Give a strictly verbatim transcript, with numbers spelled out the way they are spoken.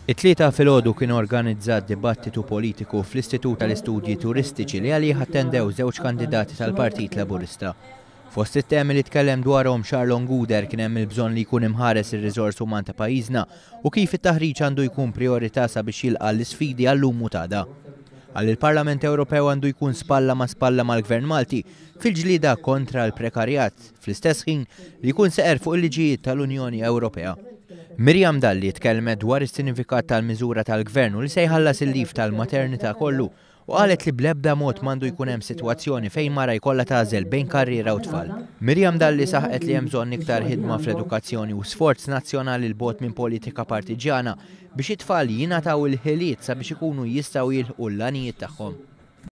It-Tlieta filgħodu kien organizzat dibattitu politiku fl-Istitut tal-Istudji Turistiċi li għalih attendew żewġ kandidati tal-Partit Laburista. Fost it-temi li tkellem dwarhom Charlon Gouder kien hemm il-bżonn li jkun imħares ir-riżors uman ta' pajjiżna u kif it-taħriġ għandu jkun priorità sabiex jilqa' l-isfidi għal-lum u t'għada. Qal il-Parlament Ewropew għandu jkun spalla ma' spalla mal-Gvern Malti fil-ġlida kontra l-prekarjat, fl-istess ħin li jkun seqer fuq il-liġijiet tal-Unjoni Ewropea. Miriam Dalli tkellmet dwar is-sinifikat tal-miżura tal-Gvern u li se jħallas il-leave tal-maternità kollu u qalet li bl-ebda mod m'għandu jkun hemm sitwazzjoni fejn mara jkollha tagħżel bejn karriera u tfal. Miriam Dalli saħqet li hemm bżonn iktar ħidma fl-edukazzjoni u sforz nazzjonali 'l bogħod minn politika partiġjana biex it-tfal jingħataw il-ħiliet sabiex ikunu jistgħu jilħqu l-għanijiet tagħhom.